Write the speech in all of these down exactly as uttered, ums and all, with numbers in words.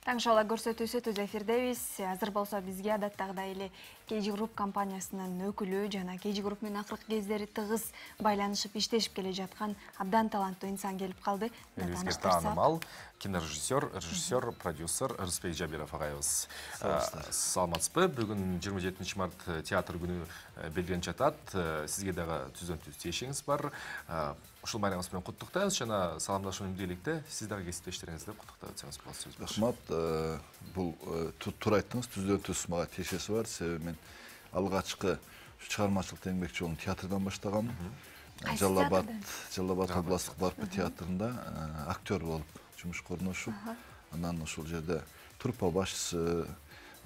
Таң шола көрсөтүүсү түз эфирдебиз. Азыр болсо бизге адаттагыдай эле кей джи Group компаниясынын өкүлү жана кей джи Group менен акыркы кездери тыгыз байланышып иштешип келе жаткан абдан таланттуу инсан келип калды. Элибизге таанымал кинорежиссер, режиссер, продюсер Рыспек Жабиров агайыбыз. Саламатсызбы? Бүгүн жыйырма жетинчи март театр күнү белгиленип жатат. Сизге дагы түздөн түз тиешиңиз бар. Ушул байрамыңыз менен куттуктайбыз жана саламдашуу менен бийликте сиз дагы кесиптештериңизди куттуктап өтсөңүз болот. Сөз бар. Рахмат. Бул туура айттыңыз, түздөн түз мага тиешеси бар. Себеби мен алгачкы чыгармачылык эмгек жолун театрдан баштагам. Жалал Абад, Жалал Абад областтык барпы театрында актер болуп жумуш корношуп, анан ушул жерде труппа башчысы,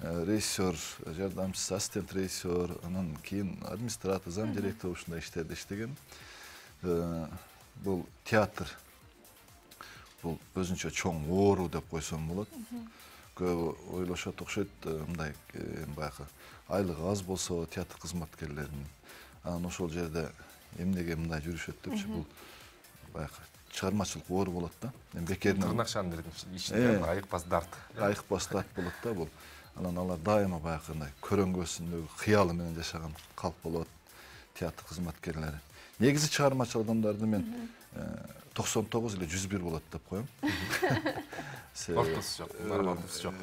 режиссер, жардамчысы, ассистент режиссер, анан кийин администратор, зам директор ушундай иштерде иштегем. Бул театр бул өзүнчө чоң оору деп койсом болот. Көбү ойлошот окшойт, мындай баягы айлыгы аз болсо театр кызматкерлеринин, анан ошол жерде эмнеге мындай жүрүшөт депчи, бул баягы чыгармачылык оору болот да. Эми бекеринен тырнакчанын ичинде айыкпас дарт. Айыкпас дарт болот да бул. Анан алар дайыма баягы мындай көрөңгөсүндөгү кыялы менен жашаган калп болот театр кызматкерлери. Негизи чыгармачыл адамдарды мен токсон тогуз эле жүз бир болот деп коем. Ортосу жок, нормалдуусу жок.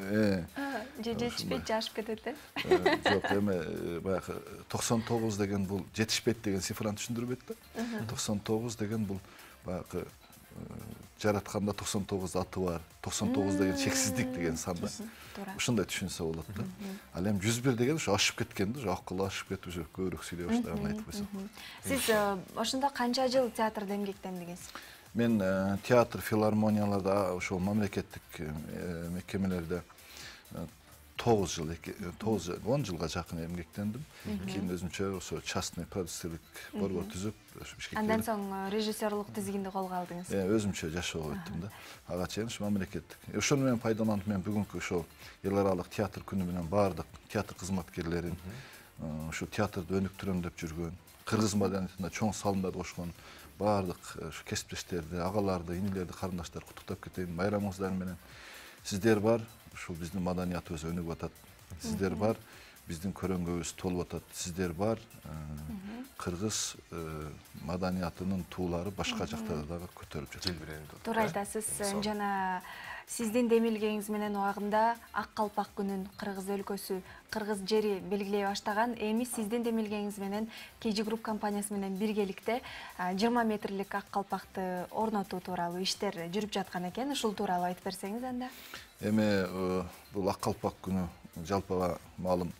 Же жетишпейт, жашып кетет э? Жок, эми баягы токсон тогуз деген бул жетишпейт деген цифраны түшүндүрбөйт да. токсон тогуз деген бул баягы жаратканда токсон тогуз аты бар, токсон тогуз деген чексиздик деген сан да. Ушундай түшүнсө болот да. Ал эми жүз бир деген ушу ашып кеткен да, акыл ашып кетип уже көбүрөөк сүйлөй баштаган айтып койсом. Сиз ошондо канча жыл театрда эмгектендиңиз? Мен театр, филармонияларда, ошол мамлекеттик мекемелерде тогуз жыл, тогуз он жылга жакын эмгектендим. Кийин өзүмчө ошо частный продюсерлик борбор түзүп, ишке кирдим. Андан соң режиссерлук тизигинди колго алдыңыз. Э, өзүмчө жашоого өттүм да. Ага чейин ушу мамлекеттик. Ошону менен пайдаланып мен бүгүнкү ошол эл аралык театр күнү менен баардык театр кызматкерлерин, ушу театрды өнүктүрөм деп жүргөн, кыргыз маданиятына чоң салымдарды кошкон баардык ушу кесиптештерди, агаларды, инилерди, карындаштарды куттуктап кетейин. Байрамыңыздар менен. Сиздер бар, ушул биздин маданиятыбыз өнүгүп атат. Сиздер бар, биздин көрөңгүбүз толуп атат. Сиздер бар, кыргыз маданиятынын туулары башка жактарда дагы көтөрүлүп жатат. Туура айтасыз. Жана сиздин демилгеңиз менен убагында Ак Калпак күнүн кыргыз өлкөсү, кыргыз жери белгилей баштаган. Эми сиздин демилгеңиз менен кей джи Group компаниясы менен биргеликте жыйырма метрлик ак калпакты орнотуу тууралуу иштер жүрүп жаткан экен. Ушул тууралуу айтып берсеңиз анда. Эми бул Ак Калпак күнү жалпыга маалым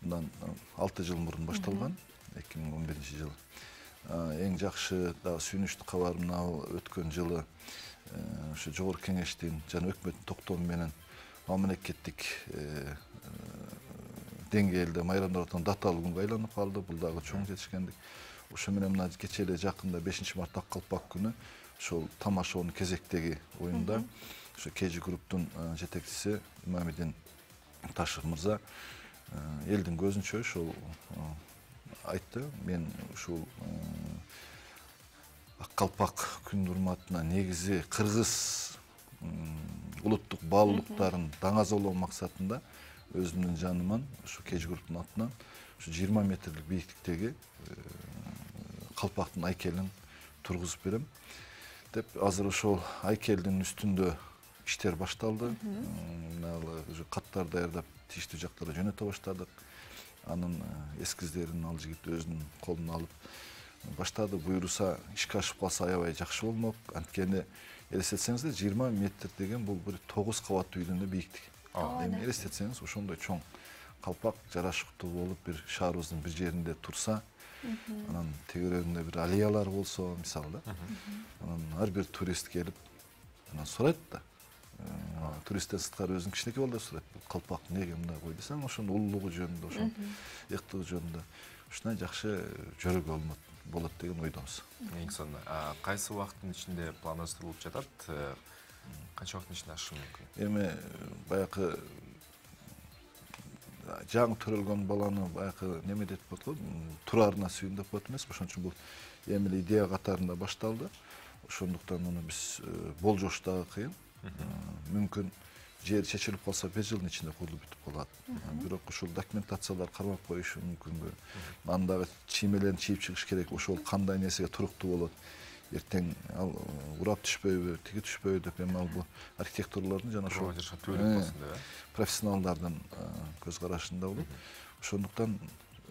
мындан алты жыл мурун башталган, эки миң он биринчи жылы. Эң жакшы дагы сүйүнүчтүү кабар мына өткөн жылы ошо жогорку кеңештин жана өкмөттүн токтому менен мамлекеттик деңгээлде майрамдап даталуу күнгө айланып калды. Бул дагы чоң жетишкендик. Ошо менен мына кечээ эле жакында бешинчи март Ак Калпак күнү ошол тамашонун кезектеги оюнда ошо кей джи Group'тун жетекчиси Имамидин Ташев мырза элдин көзүнчө ошол айтты. Мен ушул Ак Калпак күнүнүн урматына негизи кыргыз улуттук баалуулуктарын даңазалоо максатында өзүмдүн жаныман ушу кей джи Group'тун атынан ушу жыйырма метрлик бийиктиктеги калпактын айкелин тургузуп берем деп, азыр ошол айкелдин үстүндө иштер башталды. Уже каттар даярдап тийиштүү жактарга жөнөтө баштадык. Анын эскиздерин ал жигит өзүнүн колуна алып баштады. Буйруса ишке ашып калса аябай жакшы болмок. Анткени элестетсеңиздер, жыйырма метр деген бул бир тогуз кабаттуу үйдүн да бийиктиги. Эми элестетсеңиз, ошондой чоң калпак жарашыктуу болуп бир шаарыбыздын бир жеринде турса, анан тегерегинде бир аллеялар болсо, мисалы да, анан ар бир турист келип анан сурайт да. Туристтен сырткары өзүнүн кичинекей балдар сурайт. Бул калпак эмнеге мындай койду десең, ошонун улуулугу жөнүндө, ошонун ыктыгы жөнүндө ушундай жакшы жөрөгө болот деген ойдобуз. Эң сонун. Кайсы убакыттын ичинде пландаштырылып жатат? Канча убакыттын ичинде ашышы мүмкүн? Эми баягы жаңы төрөлгөн баланы баягы неме деп коет, турарына сүйүн деп коет эмес. Ошон үчүн бул эми эле идея катарында башталды. Ошондуктан муну биз болжоштогу кыйын. Мүмкүн жер чечилип калса бир жылдын ичинде курулуп бүтүп калат. Бирок ушул документациялар кармап коюшу мүмкүнбү? Андагы чиймелерин чийип чыгыш керек. Ошол кандай нерсеге туруктуу болот? Эртең ал урап түшпөйбү, тиги түшпөйбү деп эми ал бул архитекторлордун жана ошол профессионалдардын көз карашында болот. Ошондуктан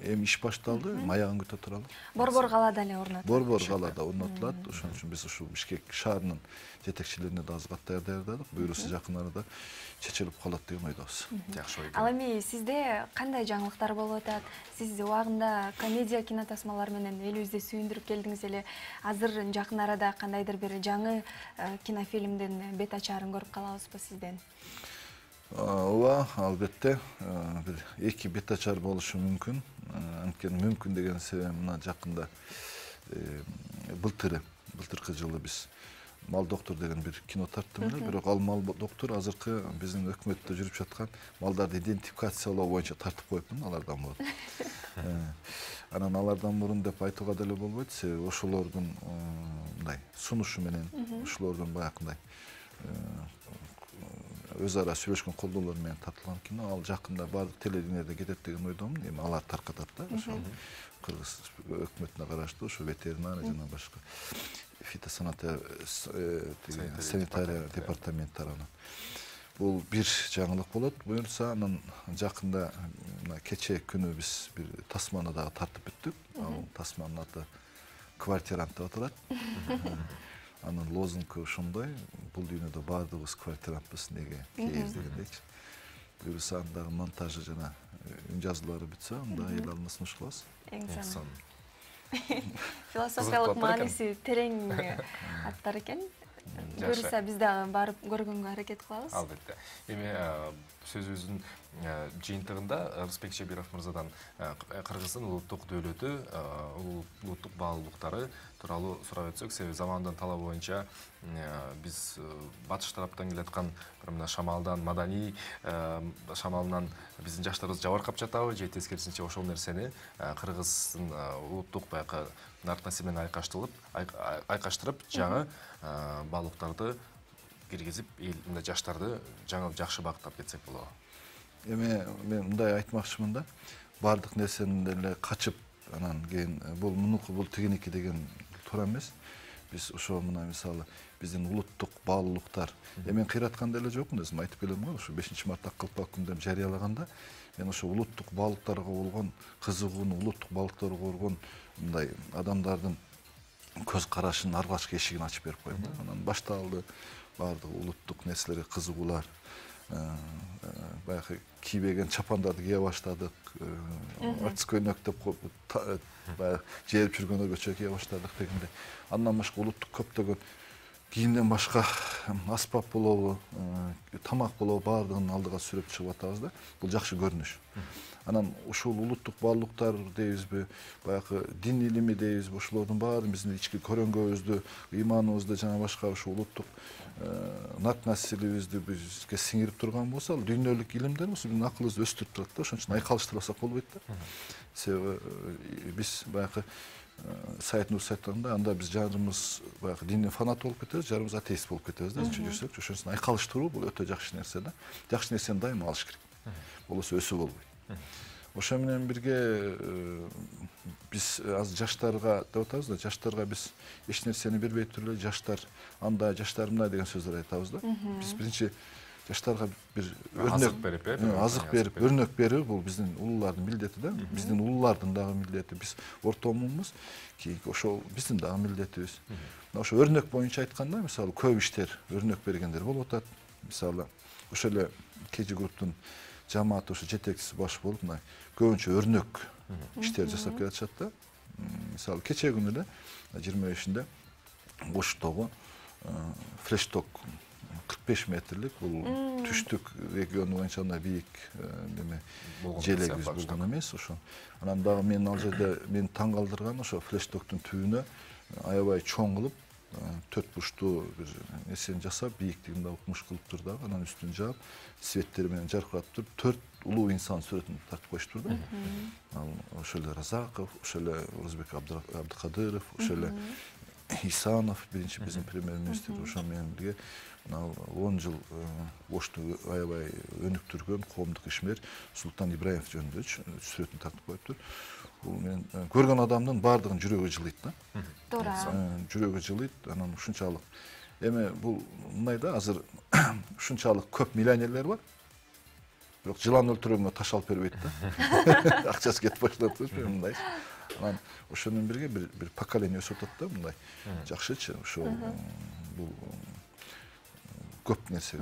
эми иш башталды, маягын күтө туралы. Борбор калаада эле орнотулат. Борбор калаада орнотулат. Ошон үчүн биз ушул Бишкек шаарынын жетекчилерине да азгат даярдадык. Буюрусу жакын арада чечилип калат деген ойдобуз. Жакшы ой. Ал эми сизде кандай жаңылыктар болуп атат? Сиз убагында комедия кинотасмалар менен элибизди сүйүндүрүп келдиңиз эле. Азыр жакын арада кандайдыр бир жаңы кинофильмдин бет ачаарын көрүп калабызбы сизден? Ооба, албетте, бир эки бет ачар болушу мүмкүн. Анткени мүмкүн деген себеби мына жакында былтыры, былтыркы жылы биз Мал доктор деген бир кино тарттым эле, бирок ал Мал доктор азыркы биздин өкмөттө жүрүп жаткан малдарды идентификациялоо боюнча тартып коюпмун алардан мурун. Анан алардан мурун деп айтууга деле болбойт, себеби ошолордун мындай сунушу менен, ошолордун баягындай өз ара сүйлөшкөн колдоолор менен тартылган кино. Ал жакында баардык телевидениеде кетет деген ойдомун. Эми алар таркатат да, ошо кыргыз өкмөтүнө караштуу ошо ветеринария жана башка фитосанитария департамент тарабынан. Бул бир жаңылык болот. Буюрса анан жакында кечээ күнү биз бир тасманы дагы тартып бүттүк. Ал тасманын аты Квартирант деп аталат. Анын лозунгу ошондой, бул дүйнөдө баардыгыбыз квартирантпыз, неге кейиз дегендейчи. Буюрса андагы монтажы жана үн жазуулары бүтсө, анда эл алдына сунуш кылабыз. Эң сонун. Философиялык мааниси терең аттар экен. Буюрса биз дагы барып көргөнгө аракет кылабыз. Албетте. Эми сөзүбүздүн жыйынтыгында Рыспек Жабиров мырзадан Кыргыздын улуттук дөөлөтү, улуттук баалуулуктары тууралуу сурап өтсөк, себеби замандын талабы боюнча биз батыш тараптан келаткан бир мына шамалдан, маданий шамалынан биздин жаштарыбыз жабыркап жатабы, же тескерисинче ошол нерсени Кыргыздын улуттук баягы наркасы менен айкаштырып, айкаштырып жаңы баалуулуктарды киргизип, эл мындай жаштарды жаңы жакшы багыттап кетсек болобу. Эми мен мындай айтмакчымын да, баардык нерсени эле качып, анан кийин бул мунуку, бул тигиники деген туура эмес. Биз ошо мына мисалы биздин улуттук баалуулуктар, эми мен кыйраткан деле жокмун, өзүм айтып келем го, ошо бешинчи март ак калпак күндөн жарыялаганда мен ошо улуттук баалуулуктарга болгон кызыгууну, улуттук баалуулуктарга болгон мындай адамдардын көз карашынын ар башка эшигин ачып берип коем. Анан башталды баардык улуттук нерселерге кызыгуулар. Баягы кийбеген чапандарды кие баштадык. Артист көйнөк деп баягы жээрип жүргөндөргө чөй кие баштадык дегенде. Андан башка улуттук көптөгөн кийимден башка аспап болобу, тамак болобу баардыгын алдыга сүрөп чыгып атабыз да. Бул жакшы көрүнүш. Анан ушул улуттук баалуулуктар дейбизби, баягы дин илими дейбизби, ошолордун баары биздин ички көрөңгөбүздү, ыйманыбызды жана башка ушул улуттук нат населибизди бизге сиңирип турган болсо, ал дүйнөлүк илимдер болсо биздин акылыбызды өстүрүп турат да. Ошон үчүн айкалыштырбасак болбойт да. Себеби биз баягы Сайыт Нурсайт айтгандай, анда биз жарымыз баягы диндин фанаты болуп кетебиз, жарымыз атеист болуп кетебиз да, жүрсөк. Ошон үчүн айкалыштыруу бул өтө жакшы нерсе да. Жакшы нерсени дайыма алыш керек. Болбосо өсүү болбойт. Ошо менен бирге биз азыр жаштарга деп атабыз да, жаштарга биз эч нерсени бербей туруп эле жаштар андай, жаштар мындай деген сөздөр айтабыз да. Биз биринчи жаштарга бир азык берип, азык берип, өрнөк берүү бул биздин улуулардын милдети да. Биздин улуулардын дагы милдети. Биз ортомунбуз, кийинки ошол биздин дагы милдетибиз. Ошо өрнөк боюнча айтканда, мисалы көп иштер өрнөк бергендер болуп атат. Мисалы ошо эле Кежи групптун жамааты ошо жетекчиси баш болуп, мына көбүнчө өрнөк иштер жасап келатышат да. Мисалы кечээ күнү эле жыйырма бешинде Оштогу флешток кырк беш метрлик, бул түштүк регион боюнча мындай бийик неме желегибиз болгон эмес ошо. Анан дагы мен ал жерде мени таң калтырган ошо флештоктун түбүнө аябай чоң кылып төрт бурчтуу бир нерсени жасап, бийиктигин да укмуш кылыптыр дагы, анан үстүн жаап, светтери менен жаркыратып туруп, төрт улуу инсан сүрөтүн тартып коюштур да. Ал ошо эле Разаков, ошо эле Орозбек Абдыкадыров, ошо эле Исанов биринчи биздин премьер-министр ошо менен бирге мына он жыл ошту аябай өнүктүргөн коомдук ишмер Султан Ибраимов жөнүндө сүрөтүн тартып коюптур. Бул мен көргөн адамдын баардыгынын жүрөгү жылыйт да. Туура. Жүрөгү жылыйт, анан ушунчалык. Эми бул мындай да, азыр ушунчалык көп миллионерлер бар. Бирок жылан өлтүргөнгө таш алып бербейт да. Акчасы кетип баштап турчу мындай. Анан ошону менен бирге бир бир поколение өсүп атат да, мындай. Жакшычы, ошо бул көп нерсе.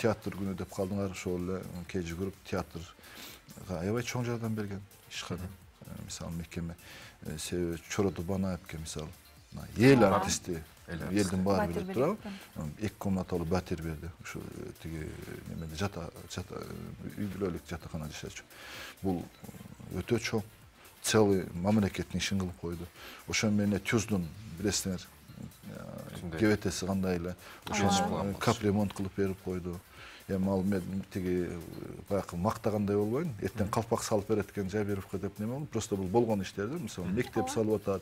Театр күнү деп калдыңар, ошол эле кей жүгүрүп театрга аябай чоң жардам берген ишкана. Мисалы мекеме себеби Чороодо Банаевке мисалы эл артисти, элдин баары билет турабы, эки комнаталуу батир берди. Ушу тиги немеде жата жата үй бүлөлүк жатакана жашачу. Бул өтө чоң целый мамлекеттин ишин кылып койду. Ошо менен Тюздун билесиңер, кебетеси кандай эле, ошону капремонт кылып берип койду. Эми ал мен тиги баягы мактагандай болбойн, эртең калпак салып берет экен Жабировго деп неме болду. Просто бул болгон иштер да, мисалы мектеп салып атат,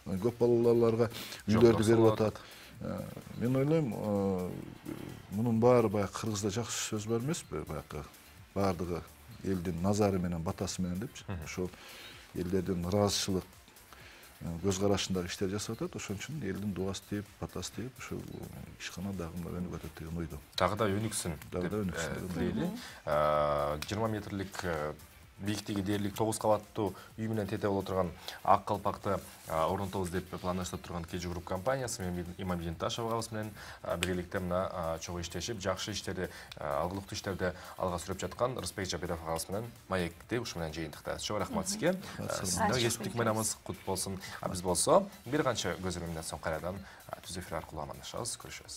көп балаларга үйлөрдү берип атат. Мен ойлойм, мунун баары баягы кыргызда жакшы сөз бар эмеспи, баягы баардыгы элдин назары менен батасы менен депчи. Ошол элдердин ыраазычылык көз карашындагы иштер жасап атат, ошон үчүн элдин дуасы тийип, батасы тийип, ошол ишкана дагы өнүгүп атат деген ойдо. Дагы да өнүксүн Дагы да өнүксүн дейли. жыйырма метрлик бийиктиги дээрлик тогуз кабаттуу үй менен тете боло турган ак калпакты орнотобуз деп пландаштап турган Кежи Групп компаниясы менен Имамидин Ташев агабыз менен биргеликте мына чогуу иштешип, жакшы иштерди, алгылыктуу иштерди алга сүрөп жаткан Рысбек Жабиров агабыз менен маекти ушу менен жыйынтыктайбыз. Чоң рахмат сизге. Сиздерге эсептик байрамыңыз кут болсун. Биз болсо бир канча көзөмөлдөн соң кайрадан түз эфир аркылуу амандашабыз, көрүшөбүз.